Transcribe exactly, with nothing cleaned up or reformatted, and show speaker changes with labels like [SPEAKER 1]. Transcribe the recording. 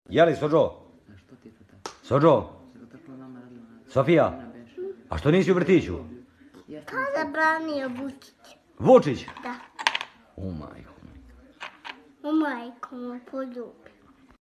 [SPEAKER 1] Jeli, Sođo? Sođo? Sofija? A što nisi u vrtiću?
[SPEAKER 2] Pa zabranio Vučić.
[SPEAKER 1] Vučić?
[SPEAKER 2] Da.
[SPEAKER 1] O majko.
[SPEAKER 2] U majku mu poljubi.